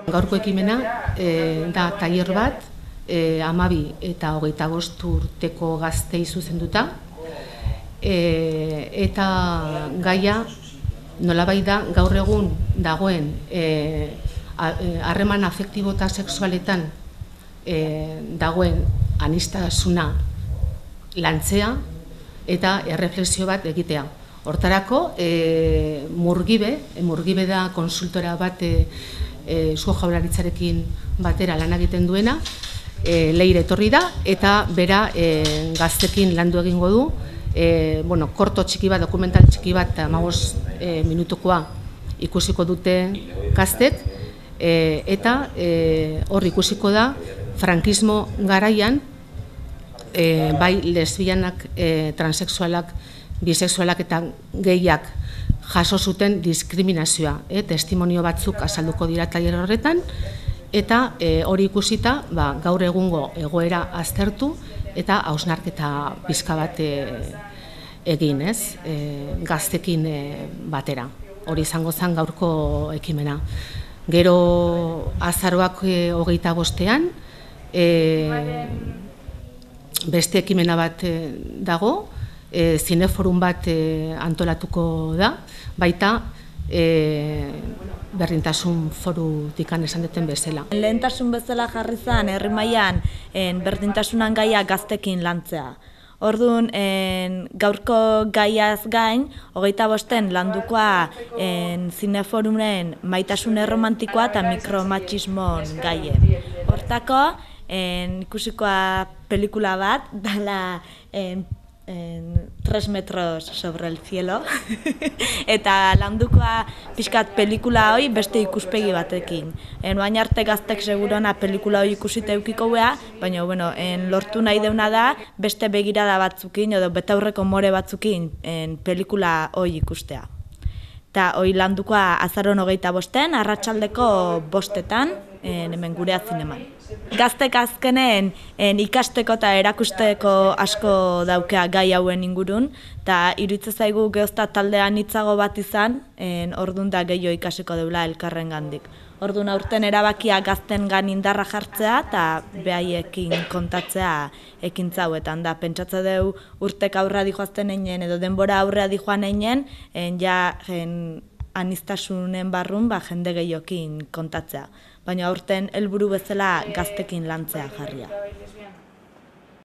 Gaurko ekimena da tailer bat, 12 eta 25 urteko gaztei zuzenduta, eta gaia nolabait da gaur egun dagoen harreman afektibo eta sexualetan dagoen aniztasuna lantzea eta erreflexio bat egitea. Hortarako, Murgibe da konsultora bat Eusko Jaurlaritzarekin batera lan egiten duena, Leire etorri da, eta bera gaztekin landu egingo du, korto txiki bat, dokumental txiki bat, 15 minutukoa ikusiko dute gaztek, eta hor ikusiko da, frankismo garaian, bai lesbianak, transexualak, bisexualak eta gehiak jaso zuten diskriminazioa. Testimonio batzuk azalduko dira tailer horretan, eta hori ikusita gaur egungo egoera aztertu eta hausnarketa pixka bat egin, gaztekin batera. Hori izango zen gaurko ekimena. Gero azaroak 25ean, beste ekimena bat dago, zineforum bat antolatuko da, baita berdintasun forutik esan duten bezala. Lehentasun bezala jarri zen herri mailan berdintasunan gaia gaztekin lantzea. Orduan, gaurko gaiaz gain, 25 landukoa zineforumen maitasun erromantikoa eta mikromatxismon gaie. Hortako, ikusikoa pelikula bat, dala 3 metros sobre el cielo, eta landukoa pixkat pelikula hori beste ikuspegi batekin. Oain arte gaztek segurona pelikula hori ikusita eukiko beha, baina lortu nahi deuna da beste begirada batzukin edo betaurreko more batzukin pelikula hori ikustea. Eta hori landukoa azaron 25ean, arratsaldeko 5etan, hemen gurea zineman. Gaztek azkenen ikasteko eta erakusteko asko daukea gai hauen ingurun, eta iruditzen zaigu geozta taldean hitzago bat izan, orduan da gehiago ikasiko deula elkarren gandik. Orduan aurten erabakia gaztengan indarra jartzea eta behaiekin kontatzea ekintza hauetan da. Pentsatze deu urtek aurrea dijoazten einen edo denbora aurrea dijoan einen, aniztasunen barrun jende gehiokin kontatzea. Baina aurten helburu bezala gaztekin lantzea jarria.